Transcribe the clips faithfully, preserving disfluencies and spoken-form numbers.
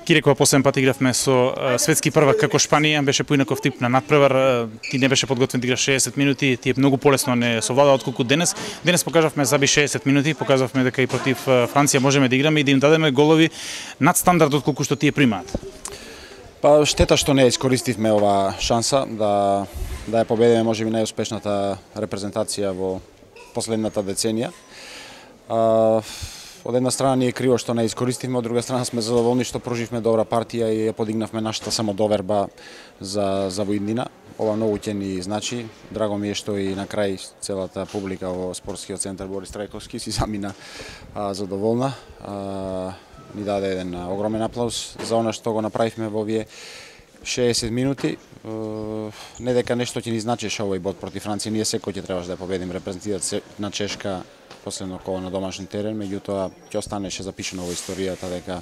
Кирекова последен пат игравме со светски првак како Шпанија, беше поинаков тип на надпревар, ти не беше подготвен да играш шеесет минути, ти е многу полесно не совлада отколку денес. Денес покажавме заби шеесет минути, покажавме дека и против Франција можеме да играме и да им дадеме голови над стандард отколку што тие примаат. Па штета што не искористивме ова шанса да да ја победиме можеби најуспешната репрезентација во последната деценија. А, од една страна ни е криво што не искористивме, од друга страна сме задоволни што проживме добра партија и ја подигнавме нашата самодоверба за за воиднина. Ова многу ќе ни значи. Драго ми е што и на крај целата публика во спортскиот центар Борис Трајковски си замина а, задоволна. А, ни даде еден огромен аплауз за она што го направивме во овие шеесет минути. Не дека нешто ќе ни значеше овој бод против Франција, ние секој ќе требаше да победим репрезентативата на Чешка последно кола на домашен терен, меѓутоа ќе останеше запишено во историјата дека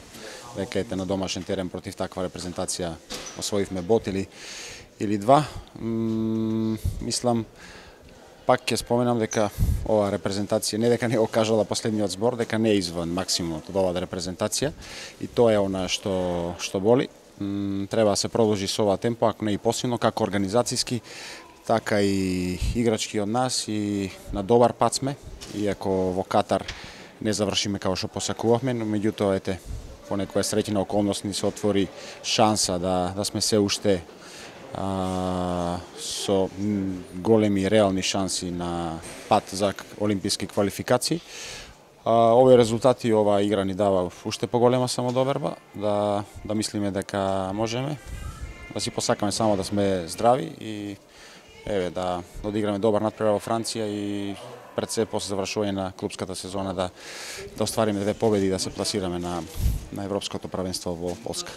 дека ете на домашен терен против таква репрезентација освоивме бод или или два. М, мислам пак ќе споменам дека ова репрезентација не дека не го кажала последниот збор, дека не е изван максимумот од оваа репрезентација и тоа е она што што боли. М, треба да се продолжи со ова темпо, ако не и посилно, како организацијски, така и играчки од нас и на добар пат сме, иако во Катар не завршиме како што посакувавме, но меѓутоа ете по некоја среќна околност ни се отвори шанса да да сме се уште а, со големи реални шанси на пат за олимписки квалификации. А, овие резултати и оваа игра ни дава уште поголема самодоверба, да да мислиме дека можеме, да си посакаме само да сме здрави и еве да одиграме добар надпревар во Франција и пред се после завршување на клупската сезона да да оствариме две победи и да се пласираме на на европското првенство во Полска.